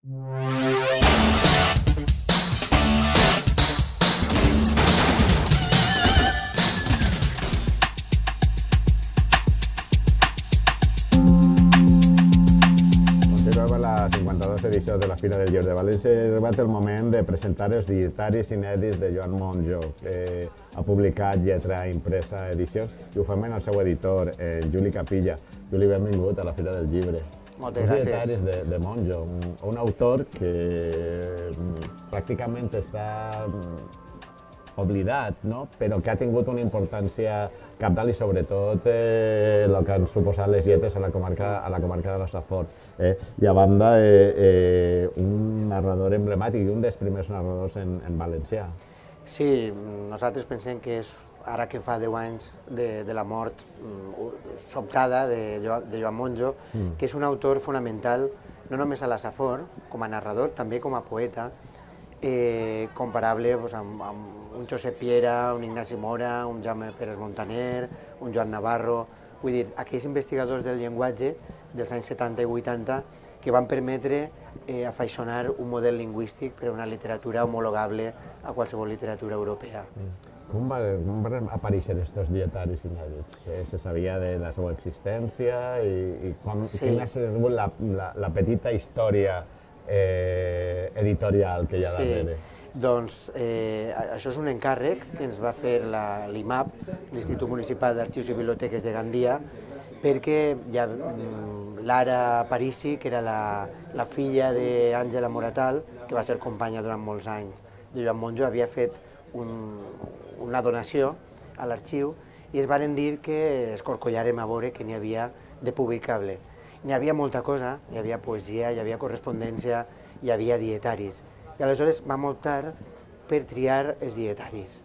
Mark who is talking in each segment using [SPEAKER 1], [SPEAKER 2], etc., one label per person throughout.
[SPEAKER 1] Continuem a la 52a edició de la Fira del Llibre de València i ha arribat el moment de presentar els dietaris inèdits de Joan Monjo, que ha publicat Lletra Impresa Edicions, i ho fem en el seu editor, Juli Capilla. Juli, benvingut a la Fira del Llibre.
[SPEAKER 2] Moltes gràcies.
[SPEAKER 1] Els dietaris de Monjo, un autor que pràcticament està oblidat, no? Però que ha tingut una importància cabdal i sobretot el que han suposat les lletres a la comarca de la Safor. I a banda, un narrador emblemàtic i un dels primers narradors en valencià.
[SPEAKER 2] Sí, nosaltres pensem que és, ara que fa 10 anys de la mort sobtada de Joan Monjo, que és un autor fonamental no només a la Safor, com a narrador, també com a poeta, comparable amb un Josep Piera, un Ignasi Mora, un Jaume Pérez Montaner, un Joan Navarro, vull dir, aquells investigadors del llenguatge dels anys 70 i 80 que van permetre afaiçonar un model lingüístic per a una literatura homologable a qualsevol literatura europea.
[SPEAKER 1] Com van aparèixer aquests dietaris inèdits? Se sabia de la seva existència i quina ha sigut la petita història editorial que hi ha darrere?
[SPEAKER 2] Doncs això és un encàrrec que ens va fer l'IMAP, l'Institut Municipal d'Arxius i Biblioteques de Gandia, perquè Lara Parisi, que era la filla d'Àngela Moratal, que va ser companya durant molts anys de Joan Monjo, havia fet una donació a l'arxiu i es varen dir que escorcollàrem a veure que n'hi havia de publicable. N'hi havia molta cosa, hi havia poesia, hi havia correspondència, hi havia dietaris. I aleshores vam optar per triar els dietaris.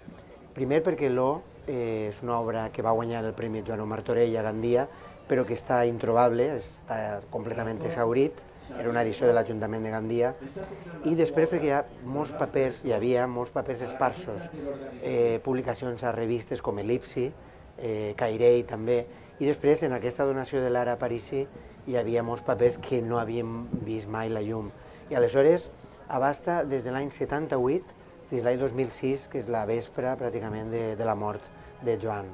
[SPEAKER 2] Primer perquè l'O és una obra que va guanyar el Premi Joan Martorell a Gandia, però que està introbable, està completament exhaurit, era una edició de l'Ajuntament de Gandia, i després perquè hi havia molts papers esparsos, publicacions a revistes com Elipsi, Cairei també, i després en aquesta donació de Lara Parisi hi havia molts papers que no havíem vist mai la llum. I aleshores abasta des de l'any 78 fins a l'any 2006, que és la vespra pràcticament de la mort de Joan.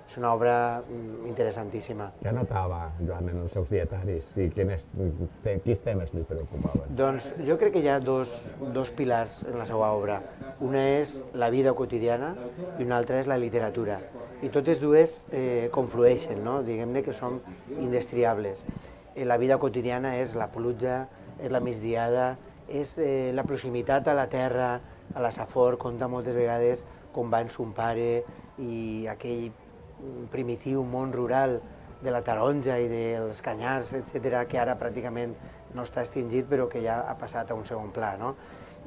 [SPEAKER 2] És una obra interessantíssima.
[SPEAKER 1] Què anotava Joan en els seus dietaris i quins temes li preocupaven?
[SPEAKER 2] Doncs jo crec que hi ha dos pilars en la seva obra. Una és la vida quotidiana i una altra és la literatura. I totes dues conflueixen, no? Diguem-ne que són indestriables. La vida quotidiana és la pluja, és la migdiada, és la proximitat a la terra, a la Safor, conta moltes vegades com va en son pare i aquell primitiu món rural de la taronja i dels canyars, etc., que ara pràcticament no està extingit però que ja ha passat a un segon pla.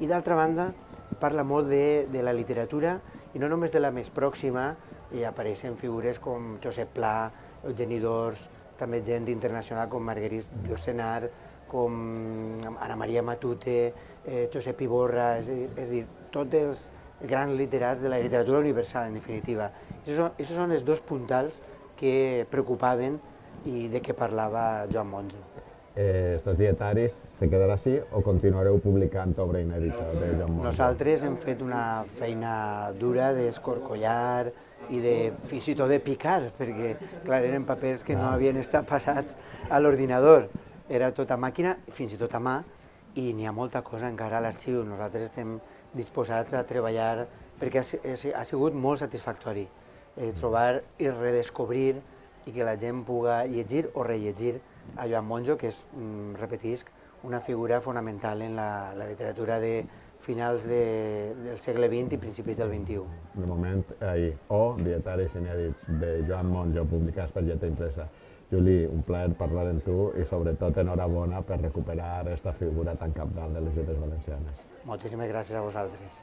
[SPEAKER 2] I d'altra banda parla molt de la literatura i no només de la més pròxima, hi apareixen figures com Josep Pla, Eugeni d'Ors, també gent internacional com Marguerite Yourcenar, com Ana Maria Matute, Josep Iborra, és a dir, tots els grans literats de la literatura universal, en definitiva. Aquests són els dos puntals que preocupaven i de què parlava Joan Monjo.
[SPEAKER 1] Estos dietaris se quedarà així o continuareu publicant obra inèdita de Joan Monjo?
[SPEAKER 2] Nosaltres hem fet una feina dura d'escorcollar i fins i tot de picar, perquè, clar, eren papers que no havien estat passats a l'ordinador. Era tot a màquina, fins i tot a mà, i n'hi ha molta cosa encara a l'arxiu. Nosaltres estem disposats a treballar perquè ha sigut molt satisfactori trobar i redescobrir i que la gent puga llegir o rellegir a Joan Monjo, que és, repetisc, una figura fonamental en la literatura de finals del segle XX i principis del XXI.
[SPEAKER 1] De moment, dietaris inèdits de Joan Monjo, publicats per Lletra Impresa. Juli, un plaer parlar amb tu i sobretot enhorabona per recuperar aquesta figura tan cabdal de les lletres valencianes.
[SPEAKER 2] Moltíssimes gràcies a vosaltres.